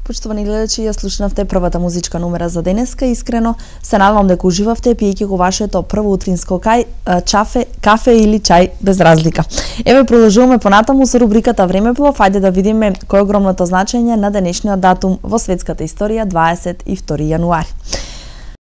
Почитувани гледачи, ја слушнавте првата музичка номера за денеска. Искрено се надевам дека уживавте пиејќи го вашето прво утринско кафе или чај без разлика. Еве продолжуваме понатаму со рубриката Времеплов. Ајде да видиме кој е огромното значење на денешниот датум во светската историја 22 јануари.